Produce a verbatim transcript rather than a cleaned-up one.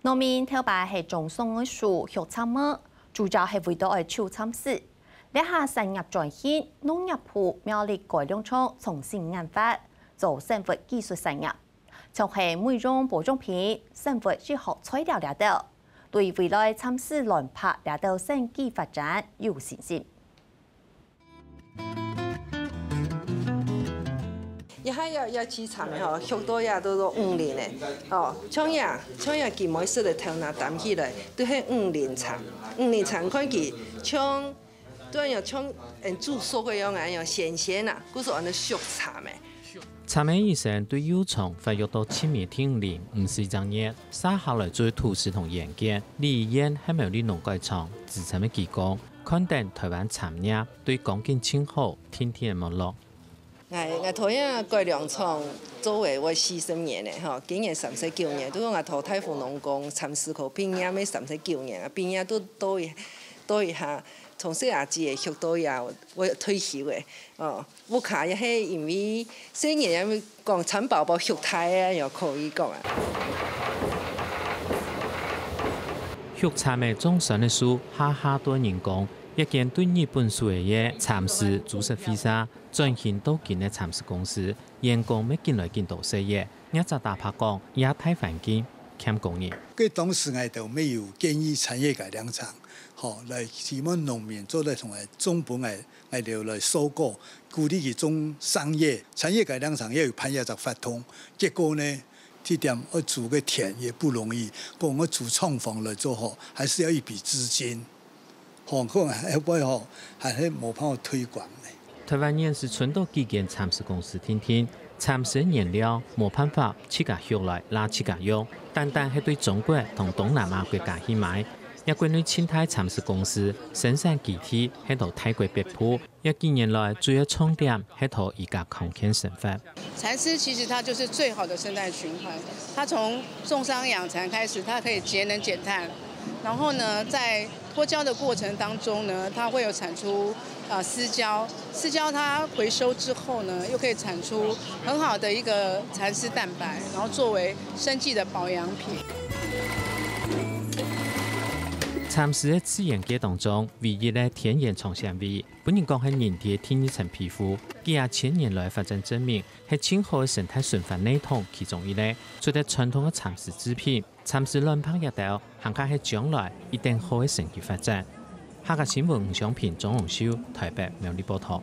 農民頭擺係種桑个樹畜蠶仔，主要係為著愛抽蠶絲。這下產業轉型，農業部苗栗改良場重新研發，做生物技術產業，像係美容保養品、生物醫學材料這兜，對未來蠶絲卵白這兜生機發展有信心。 這下這，這支蠶仔吼，畜到這都，都五年了。哦，像這，像這佢每色个頭那擔起來，都係五年蠶。五年蠶看佢像，都恁樣像，嗯，煮熟个樣啊，恁樣鮮鮮啊，故所安到畜蠶仔。蠶仔一生對幼蟲發育到七米定齡，毋使一隻月，續下來注意土質同鹽鹼。李怡燕係苗栗農改場資深个技工，看等臺灣蠶業對光景盡好，定定个沒落。 𠊎，𠊎在這改良場做仔會四十年了吼，今年三十九年，就講𠊎在大湖農工蠶絲科畢業个三十九年啊，畢業都到一，到一下，從細阿姊仔畜到這，會退休个，哦，屋下也係因為細人也講蠶寶寶畜大个，也可以講啊。畜蠶仔種酸个樹，下下都人工，一間對日本樹仔个蠶絲株式會社 轉型到今个蠶絲公司，員工乜緊來緊多細个，業者坦白講，這大環境欠工人。該當時𠊎兜乜有建議產業改良場，吼，來希望農民做得同𠊎種分𠊎，𠊎兜來收購，鼓勵佢種桑葉。產業改良場也有辦這隻活動，結果呢，這點愛租个田也不容易，講愛租廠房來做吼，還是要一筆資金。 吼，可能後尾吼，還係無辦法推廣呢。臺灣現時伸到幾間蠶絲公司定定，蠶絲原料無辦法自家畜來罅自家用，單單係對中國同東南亞國家去買。這國內盡大蠶絲公司生產基地係在泰國北部，這幾年來主要重點係在這个康健生活。 蠶絲其實它就是最好的生態循環，它從種桑養蠶開始，它可以節能減碳，然後呢，在脫膠的過程當中呢，它會有產出，呃，絲膠，絲膠它回收之後呢，又可以產出很好的一個蠶絲蛋白，然後作為生技的保養品。蠶絲在自然界當中唯一个天然長纖維，分人講係人體个第二層皮膚。幾下千年來發展證明， 係盡好个生態循環系統其中一類。除忒傳統个蠶絲製品，蠶絲卵白這兜，還較係將來一等好个生意發展。客家新聞吳尚平、鍾榮秀，臺北苗栗報導。